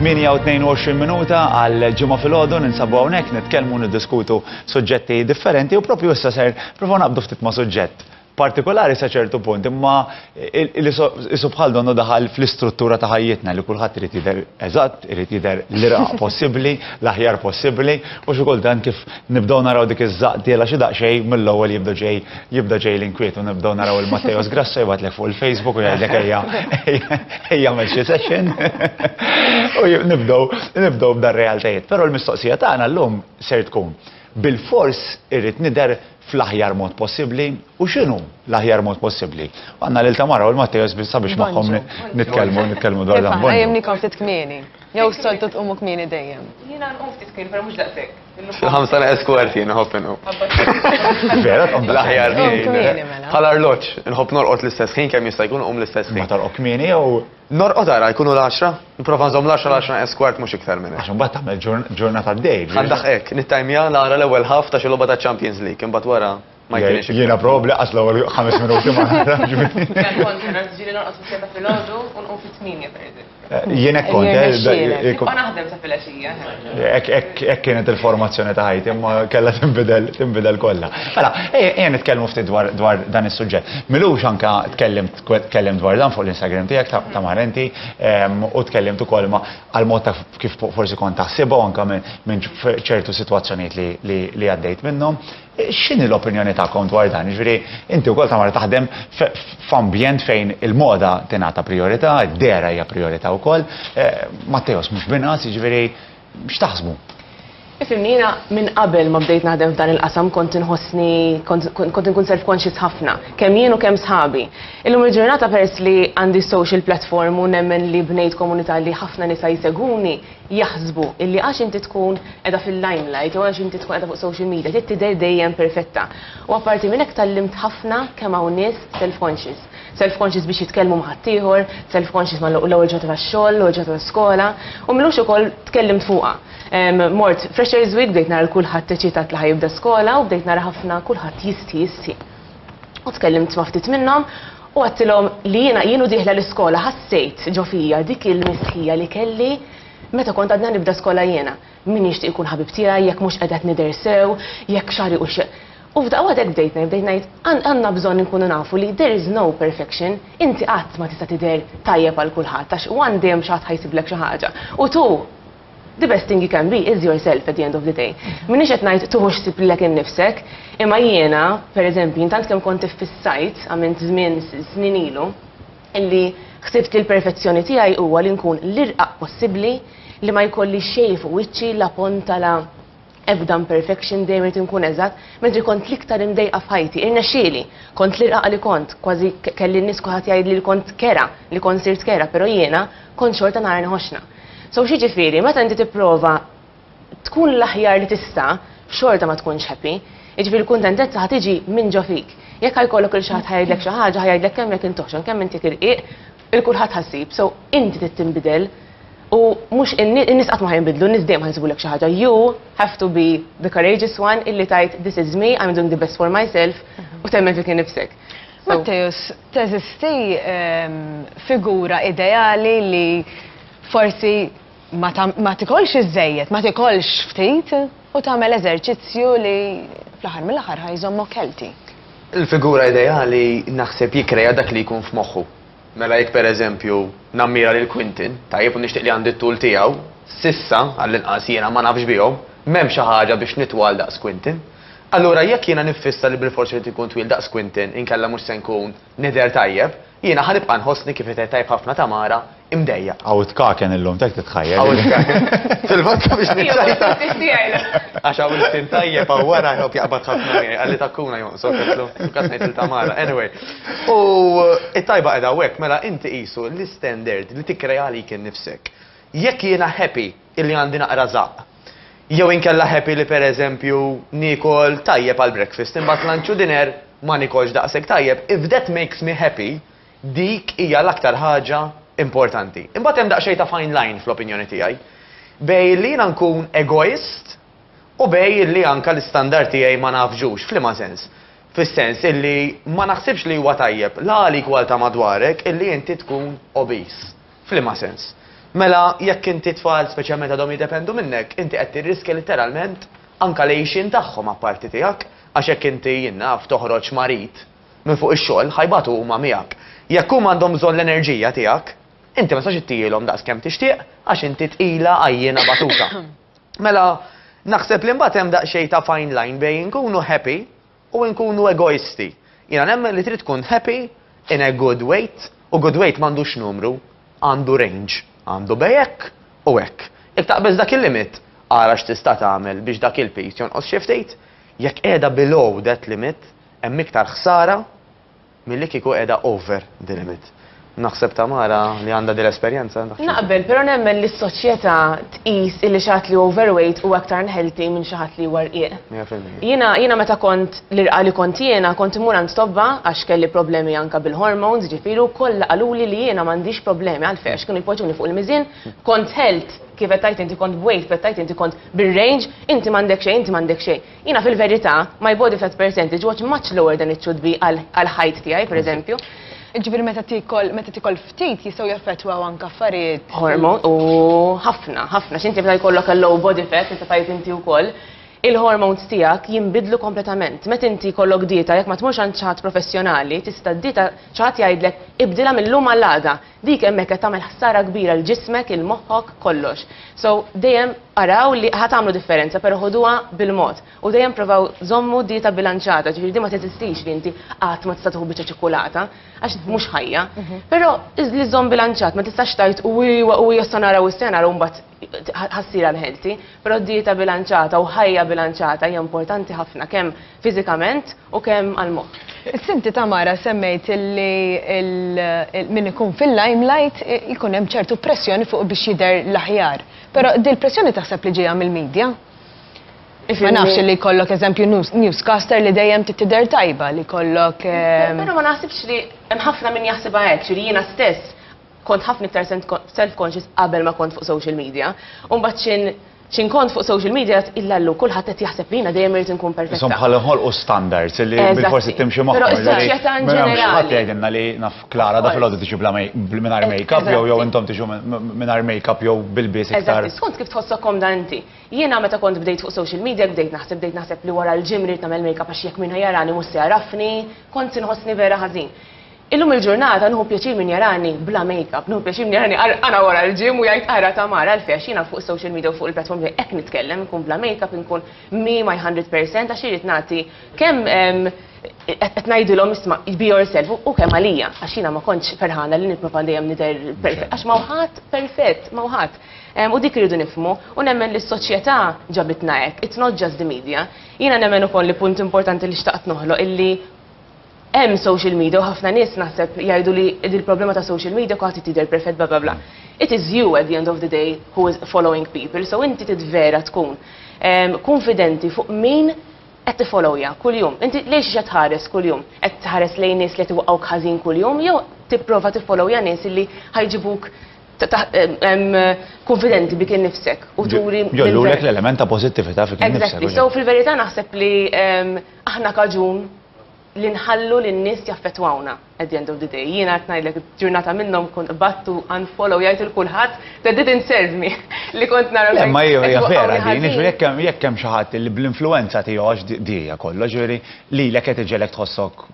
8:22 minuta għal Ġimgħa filgħodu ninsabu hawnhekk nitkellmu niddiskutu suġġetti differenti u propju issa ser provaw naqbdu ftit ma' suġġett partikolari sa ċertu punt, imma isu bħal donnu daħal fl-istruttura ta' ħajjitna li kulħadd irid jidher eżatt, irid jidher l-irqaq possibbli, l-aħjar possibbli, u xi kultant kif nibdew naraw dik iż-żaqq tiela xi daqsxejn mill-ewwel jibda ġej jibda ġej l-inkwiet u nibdew naraw il-Matteos Grasso jibgħatlek fuq il-Facebook u jgħidlek ejja ejja għamel xi session. U nibdew nibdew b'dar realtajiet. Però l-mistoqsija tagħna llum ser tkun bilfors irrid nidher fl-aħjar mod possibbli u x'inhu l-aħjar mod possibbli. U għandna lil Tamara u l-Matteos sabiex magħhom nitkellmu nitkellmu dwar dan. Qajjimnikom ftit kmieni. Jew s-soltu tqumu kmieni dejjem. Jiena nqum ftit kmieni, però mhux daqshekk. Fil-5 neqes kwart jien nħobb inqum. Vera tqum L-aħjar kmieni mela. Bħal arloġġ, nħobb norqod l-istess ħin kemm jista' jkun nqum l-istess Ma ħin. torqod kmieni jew Norqod ara jkunu l-10, nipprova nżomm l-10 l-10 neqes kwart mhux iktar minn hekk. għax imbagħad tagħmel ġurnata d-dej. Għandaħ hekk, nittajmja nara l-ewwel ħaf ta' xi logħba ta' Champions League, imbagħad wara ma jkunx iktar. Jiena probabbli qas l-ewwel 5 minuti ma nara. Jien kontra, ġieli norqod fis-7 filgħodu u nqum fit-8 pereżempju. Jien hekk kont, Jirnexxielek. Nibqa' naħdem sa filgħaxija. Hekk kienet il-formazzjoni ta' ħajti, imma kellha tinbidel tinbidel kollha. Mela, ejja nitkellmu ftit dwar dwar dan is-suġġett. Milux anka tkellimt tkellim dwar dan fuq l-Instagram tiegħek ta' Marenti u tkellimt ukoll ma' għal mod ta' kif forsi kont taħsibha u anka minn ċertu sitwazzjonijiet li għaddejt minnhom. X'inhi l-opinjoni tagħkom dwar dan? Jiġifieri inti wkoll Tamara taħdem f'ambjent fejn il-moda tingħata priorità, id-dehra hija priorità wkoll. Matteos mhux b'inqas, jiġifieri x'taħsbu? Ifhimni, jiena minn qabel ma bdejt naħdem f'dan il-qasam kont inħossni kont inkun self-conscious ħafna, kemm jien u kemm sħabi. Illum il-ġurnata peress li għandi social platform u nemmen li bnejt komunità li ħafna nisa jsegwuni, jaħsbu illi għax inti tkun qiegħda fil-limelight jew għax inti tkun qiegħda fuq social media trid tidher dejjem perfetta. U apparti minn hekk tgħallimt ħafna kemm hawn nies self-conscious. Self-conscious biex jitkellmu ma' ħaddieħor, self-conscious ma' l-ewwel ġurnata tax-xogħol, l-ewwel ġurnata ta' skola, u m'ilux ukoll tkellimt fuqha. Mort Freshers Week bdejt nara l kulħadd eċitat li ħa jibda skola u bdejt nara ħafna kulħadd jistħi jistħi. U tkellimt ma' ftit minnhom u għedtilhom li jiena jien u dieħla l-iskola ħassejt ġo fija dik il-mistħija li kelli meta kont għadna nibda skola jiena. Min jixtieq ikun ħabib tiegħi jekk mhux qiegħda nidher sew, jekk xagħri u xe. U f'daqqa waħda hekk bdejt ngħid, bdejt ngħid għandna bżonn inkunu nafu li there is no perfection, inti qatt ma tista' tidher tajjeb għal kulħadd għax one dejjem xi ħadd ħa jsiblek xi ħaġa. U tu the best thing you can be is yourself at the end of the day. Minix qed ngħid tuħux ħsieb lilek innifsek, imma jiena, pereżempju, intant kemm kont iffissajt għamilt żmien snin ilu, illi ħsibt li l-perfezzjoni tiegħi huwa li nkun l-irqaq possibbli li ma jkolli xejn fuq wiċċi la ponta la ebda imperfection dejjem irid inkun eżatt, mentri kont l-iktar imdejqa f'ħajti, irnexxieli, kont l-irqaq li kont, kważi kelli n-nies kulħadd jgħid li kont kera, li kont sirt kera, però jiena kont xorta nara ħoxna. So x'jiġifieri, meta inti tipprova tkun l-aħjar li tista', xorta ma tkunx happy. Jiġifieri l-kuntentezza ħa tiġi minn ġo fik. Jekk ħa jkollok il xi ħadd ħa jgħidlek xi ħaġa, ħa jgħidlek kemm jekk int oħxon, kemm inti irqiq, il kulħadd ħa ssib. So inti trid tinbidel u mhux in-nies qatt ma ħa jinbidlu, n-nies dejjem ħa jsibulek xi ħaġa. You have to be the courageous one illi tgħid this is me, I'm doing the best for myself u temmen fik innifsek. Matteus, teżisti figura ideali li forsi ma tikolx iżżejjed, ma tikolx ftit u tagħmel eżerċizzju li fl-aħħar mill-aħħar ħa jżommok healthy. Il-figura ideali naħseb jikreja dak li jkun f'moħħu. Mela jekk pereżempju nammira lil Quinton, tajjeb u nixtieq li għandi t-tul tiegħu, s'issa għall-inqas jiena ma nafx bihom, m'hemm xi ħaġa biex nitwal daqs Quinton. Allura jekk jiena niffissa li bilfors irid ikun twil daqs Quinton inkella mhux se nkun nidher tajjeb, jiena ħa nibqa' nħossni kif qed tajb ħafna Tamara imdejjaq. Hawn tkaken illum, tek titħajjel. Hawn tkaken. Fil-fatt biex niċċajta. Għax hawn il-tin tajjeb hawn wara jħobb jaqbad ħafna miegħi, qalli takkuna jonqsok, għedtlu, kas ngħid lil Tamara. Anyway. U it-tajba qiegħda hawnhekk mela inti qisu l-istandard li tikkrea għalik innifsek. Jekk jiena happy illi għandi naqra żaqq, jew inkella happy li pereżempju niekol tajjeb għal breakfast, imbagħad lunch u dinner ma nikolx daqshekk tajjeb, if that makes me happy, dik hija l-aktar ħaġa importanti. Imbagħad hemm daqsxejn ta' fine line fl-opinjoni tiegħi. Bejn li jiena nkun egoist u bejn li anka l-istandard tiegħi ma nafġux, f'liema sens? Fis-sens illi ma naħsibx li huwa tajjeb la għalik u għal ta' madwarek illi inti tkun obese. F'liema sens? Mela jekk inti tfal speċjalment għadhom jiddependu minnek, inti qed tirriskja litteralment anka l-għixien tagħhom apparti tiegħek, għax jekk inti jien naf toħroġ marid minn fuq ix-xogħol ħa jbatu huma miegħek. Jekk huma għandhom bżonn l-enerġija tiegħek, inti ma tistax ittihielhom daqs kemm tixtieq għax inti tqila għajjiena batuta. Mela naħseb li mbagħad hemm daqsxejn ta' fine line bejn inkunu happy u nkunu egoisti. Jiena nemmen li trid tkun happy in a good weight u good weight m'għandux numru, għandu range, għandu bejn hekk u hekk. Jekk taqbeż dak il-limit, ara x'tista' tagħmel biex dak il-piż jonqos xi ftit, jekk qiegħda below that limit, hemm iktar ħsara milli kieku qiegħda over the limit. Naħseb Tamara li għandha din l-esperjenza. Naqbel, però nemmen li s-soċjetà tqis illi xi ħadd li overweight huwa aktar unhealthy minn xi ħadd li huwa rqiq. 100%. Jiena jiena meta kont l-irqa li kont jiena kont immur għand tobba għax kelli problemi anka bil-hormones, ġifieri u kollha qaluli li jiena m'għandix problemi għalfejn għax kienu jpoġġuni fuq il-miżien, kont health kif qed tgħid inti kont b'weight, kif qed tgħid inti kont bir-range, inti m'għandek xejn, inti m'għandek xejn. Jiena fil-verità, my body fat percentage was much lower than it should be għal height tiegħi, per eżempju. Ġifieri meta tikol ftit jistgħu jaffettwaw anke affarijiet. Hormone, u ħafna, ħafna, x'inti meta jkollok a low body fat, inti tajt inti wkoll, il-hormones tiegħek jinbidlu kompletament. Meta inti jkollok dieta, jekk ma tmurx għand xi ħadd professjonali, tista' dieta xi ħadd jgħidlek ibdilha mill-lum għall-għada. Dik hemmhekk qed tagħmel ħsara kbira l ġismek, il-moħħok, kollox. So dejjem araw li ħa tagħmlu differenza, però ħoduha bil-mod. U dejjem provaw żommu dieta bilanċata, ġifieri di ma teżistix li inti qatt ma tista' tieħu biċċa ċokolata, għax mhux ħajja. Però li żomm bilanċat, ma tistax tgħid u iwa u issa naraw is-sena u mbagħad ħa ssir unhealthy, però dieta bilanċata u ħajja bilanċata hija importanti ħafna kemm fiżikament u kemm għal-moħħ. Inti Tamara semmejt li min ikun fil-limelight ikun hemm ċertu pressjoni fuq biex jidher l-aħjar. Però dil-pressjoni taħseb li ġejja mill-medja? Ma nafx li jkollok eżempju newscaster li dejjem tidher tajba li jkollok. Però ma naħsibx li hemm ħafna min jaħsibha hekk, li jiena stess kont ħafna iktar self-conscious qabel ma kont fuq social media. U mbagħad xin kont fuq social media illallu kulħadd qed jaħseb li jiena dejjem irid inkun perfetta. Insomma bħal ħolqu standards li bil-forsi timxi magħhom. Però is-soċjetà in ġenerali. Ħadd jgħidilna li naf Klara da filgħodu tiġi bla mingħajr make-up jew intom tiġu mingħajr make-up jew bil-bies iktar. Eżatt, skont kif tħossok komda inti. Jiena meta kont bdejt fuq social media bdejt naħseb li wara l-gym rrid nagħmel make-up għax jekk min jarani mhux se jarafni, kont inħossni vera ħażin. Illum il-ġurnata nieħu pjaċir min jarani bla make-up, nieħu pjaċir min jarani għana wara l-gym u jgħid ara Tamara għalfejn għax jiena fuq social media u fuq il-platform hekk nitkellem, nkun bla make-up, nkun me my 100% għax irid nagħti kemm qed ngħidilhom isma' be yourself u kemm għalija għax jiena ma kontx ferħana li nipprova dejjem nidher perfett għax ma ħadd perfett, ma ħadd. U dik irridu nifhmu u nemmen li s-soċjetà ġabitna hekk, it's not just the media. Jiena nemmen ukoll li punt importanti li xtaqt noħloq illi hemm social media u ħafna nies naħseb jgħidu li il-problema ta' social media kulħadd tidher perfett bla bla bla. It is you at the end of the day who is following people, so inti tidvera tkun konfidenti fuq min qed tifollowja kuljum. Inti lejn xi tħares kuljum? Qed tħares lejn nies li qed iwaqgħuk ħażin kuljum jew tipprova tiffollowja nies li ħa jġibuk konfidenti bik innifsek u turi. Jgħollulek l-element ta' pozittività fik innifsek. Exactly. So fil-verità naħseb li aħna kaġun li nħallu lin-nies jaffettwawna at the end of the day. Jiena qed ngħidlek ġurnata minnhom kont battu unfollow jgħid il kulħadd that didn't serve me li kont nara. Le, ma hija vera din, jiġifieri jekk hemm xi ħadd li bl-influenza tiegħu għax di hija kollox, ġifieri lilek qed iġegħlek tħossok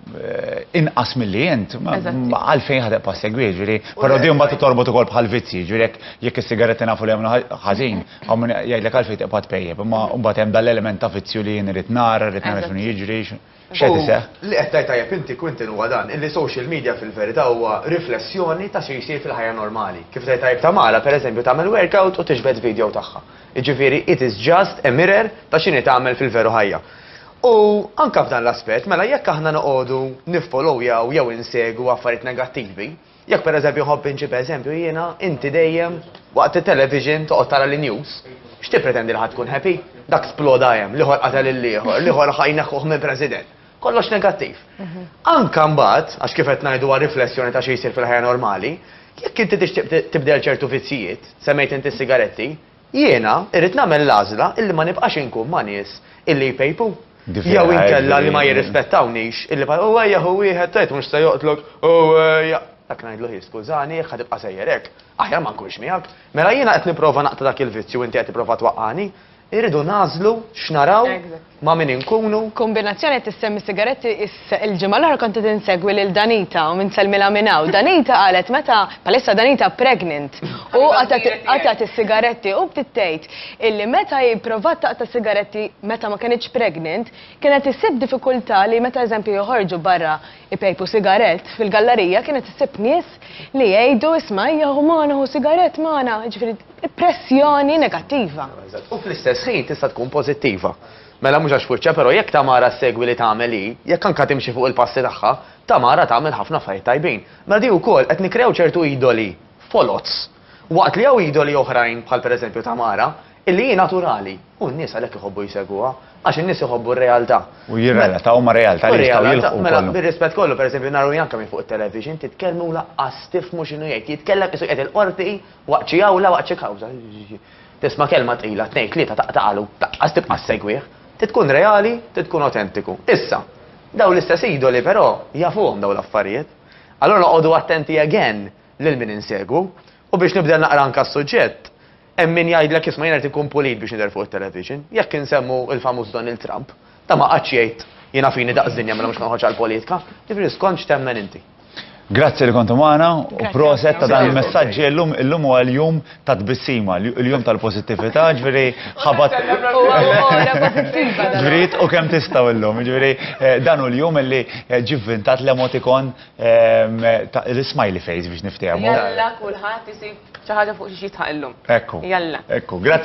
inqas milli int, għalfejn ħa tibqa' segwi, ġifieri, però di mbagħad torbot ukoll bħal vizzji, ġifieri jekk is-sigaretti nafu li jagħmlu ħażin, hawn min jgħidlek għalfejn tibqa' tpejjep, imma mbagħad hemm dal-element ta' vizzju li jien irid nara, rrid nara x'inhu jiġri. X'qed iseħħ? Li qed tgħid tajjeb inti Quinton huwa dan, illi social media fil-verità huwa riflessjoni ta' xi jsir fil-ħajja normali. Kif tgħid tajjeb Tamara, pereżempju, tagħmel workout u tiġbed video tagħha. Jiġifieri it is just a mirror ta' x'inhi tagħmel fil-veru ħajja. U anka f'dan l-aspett, mela jekk aħna noqogħdu niffollowjaw jew insegu affarijiet negattivi, jekk pereżempju nħobb inġib eżempju jiena, inti dejjem waqt it-television toqgħod tara l-news, x'tippretendi li ħadd tkun happy? Dak sploda hemm, l-ieħor qatel il-ieħor, l-ieħor ħa jneħħuh minn president. Kollox negattiv. Anka mbagħad, għax kif qed ngħidu riflessjoni ta' xi jsir fil-ħajja normali, jekk inti tixtieq tibdel ċertu vizzijiet, semmejt inti s-sigaretti, jiena irrid nagħmel l-għażla illi ma nibqax inkun ma' nies illi jpejpu. Jew inkella li ma jirrispettawnix, illi bħal, u ejja hu wieħed tgħid mhux se joqtlok, u ejja. Dak ngħidlu ħi skużani jekk ħa tibqa' sejjer hekk, aħjar ma nkunx miegħek. Mela jiena qed nipprova naqta' dak il-vizzju inti qed tipprova twaqqagħni. Irridu nagħżlu x'naraw, ma' min inkunu. Kombinazzjoni qed issemmi sigaretti il-ġimgħa l-oħra kont qed insegwi lil Danita u nsellmilha minn hawn. Danita qalet meta bħalissa Danita pregnant u qatgħet is-sigaretti u bdiet tgħid illi meta hi pprovat taqta' sigaretti meta ma kinitx pregnant kienet issib diffikultà li meta eżempju joħorġu barra ipejpu sigarett fil-gallarija kienet issib nies li jgħidu isma' ejja ħu magħna ħu sigarett magħna, jiġifieri pressjoni negattiva. U fl-istess ħin tista' tkun pożittiva. Mela mhux għax fuċċa, però jekk Tamara ssegwi li tagħmel hi, jekk anke timxi fuq il-passi tagħha, Tamara tagħmel ħafna affarijiet tajbin. Mela di wkoll qed nikkrew ċertu idoli foloz. Waqt li hawn idoli oħrajn bħal pereżempju Tamara, Illi hi naturali. U n-nies għalhekk iħobbu jsegwuha. Għax in-nies iħobbu r-realtà. U jirrelataw ma' realtà li jistgħu jilħqu. Mela, bir-rispett kollu, pereżempju, naru Janka minn fuq it-television, titkellmu u laqqas tifhmu x'inhu jgħid. Jitkellem qisu qiegħed il-qorti waqt xi awla waqt xi kawża. Tisma' kelma tqila, tnejn, tlieta, taqtaqalu, laqqas tibqa' ssegwih. Trid tkun reali, trid tkun awtentiku. Issa, dawn l-istess idoli però jafuhom dawn l-affarijiet. Allura noqogħdu attenti again lil min insegwu. U biex nibdel naqra anke s-suġġett, Hemm min jgħidlek isma' jiena rrid inkun pulit biex nidher fuq it-television. Jekk insemmu l-famuż Donald Trump, dan ma qagħadx jgħid jiena fini daqs dinja mela mhux noħroġ għall-politika. Jiġifieri skont x'temmen inti. Grazzi li kontu magħna u proset ta' dan il-messaġġi illum illum huwa l-jum ta' tbissima, il-jum tal-pożittività, ġifieri ħabat. Ġifieri u kemm tistgħu illum, ġifieri eh, dan hu l-jum li eh, ġie vvintat l-emoticon eh, l-smiley face biex niftehmu. Jalla kulħadd isib Xi ħaġa fuq xiex jidħaq illum. Ekku. Jalla. Ekku, grazzi.